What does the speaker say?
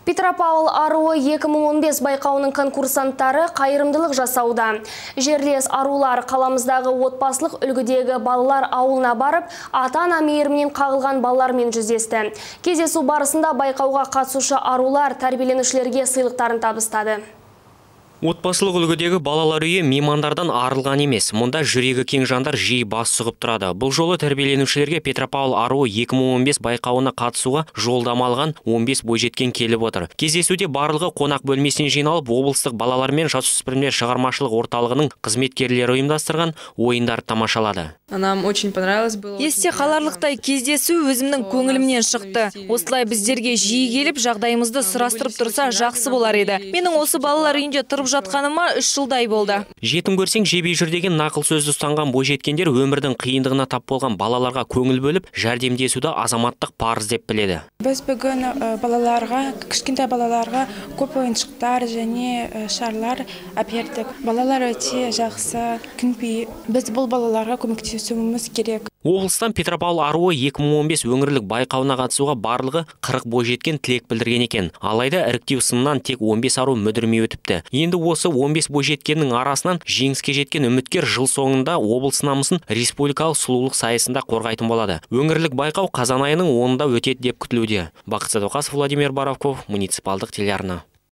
Петропавл аруы 2015 байқауының конкурсанттары қайырымдылық жасауда. Жерлес арулар қаламыздағы отбасылық үлгідегі балалар ауылына барып, ата-ана мейірімінен қағылған балалармен жүздесті. Кездесу барысында байқауға қатысушы арулар тәрбиеленушілерге сыйлықтарын табыстады. Отбасылық үлгідегі балалар үйі меймандардан арылған емес. Мұнда жүрегі кең жандар жиі бас сұғып тұрады. Бұл жолы тәрбиеленушілерге Петропавл аруы 2015 байқауына қатысуға жолдама алған 15 бойжеткен келіп отыр. Кездесуде барлығы қонақ бөлмесіне жиналып, облыстық балалар мен жасөспірімдер шығармашылық орталығының қызметкерлері ұйымдастырған ойындар тамашалады. Нам очень понравилось было. Есте қаларлықтай кездесу өзімнің көңілімнен шықты. Осылай біздерге жиі келіп, жағдайымызды сұрастырып тұрса жақсы болар еді. Менің осы балалар үйінде тұрып жатқаныма 3 жылдай болды. Жетім көрсең жебей жүр деген нақыл сөзді ұстанған бойжеткендер өмірдің қиындығына тап болған балаларға көңіл бөліп, жәрдемдесуді азаматтық парыз деп біледі. Біз бүгін балаларға, кішкентай балаларға көп ойыншықтар және шарлар әпердік. Балалар өте жақсы, күнпей. Біз бұл балаларға көмектесуіміз керек. Облыстан Петропавл аруы 2015 өңірлік байқауына қатысуға барлығы 40 бойжеткен тілек білдірген екен. Алайда іріктеу сынынан тек 15 ару мүдірмей өтіпті. Енді осы 15 бойжеткеннің арасынан жеңіске жеткен үміткер жыл соңында облыс намысын республикалық сұлулық сайысында қорғайтын болады. Өңірлік байқау қазан айының 10-ында өтеді деп күтілуде. Бақыт Садуақасов, Владимир Боровков, муниципалдық телеарна.